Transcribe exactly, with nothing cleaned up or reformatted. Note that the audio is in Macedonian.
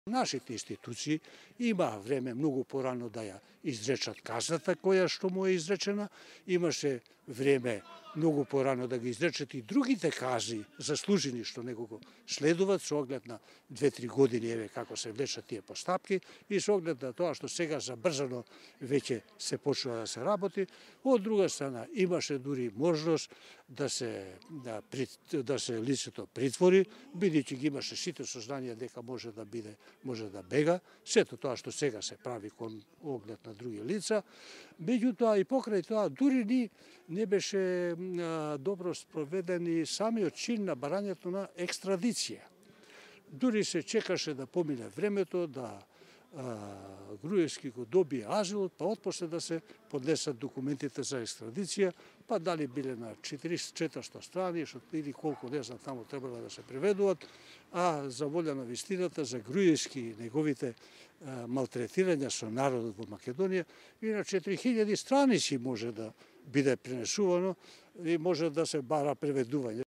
Нашите институции имаа време многу порано да ја изречат казната која што му е изречена, имаше време многу порано да ги изречат и другите казни заслужени што него го следуваат со оглед на две-три години еве како се влечат тие постапки и со оглед на тоа што сега забрзано веќе се почнува да се работи. Од друга страна имаше дури можност да се да, да се лицето притвори, бидејќи ги имаше сите сознанија дека може да биде може да бега, сето тоа што сега се прави кон оглед на други лица. Меѓутоа и покрај тоа дури ни не беше а, добро спроведен и самиот чин на барањето на екстрадиција. Дури се чекаше да помине времето, да а, Груевски го добие азилот, па отпосле да се поднесат документите за екстрадиција, па дали биле на четиристотини страни, што или колку не знам таму требало да се преведуваат, а за волја на вистината за Груевски и неговите а, малтретирања со народот во Македонија и на четири илјади страници може да биде пренесувано и може да се бара преведување.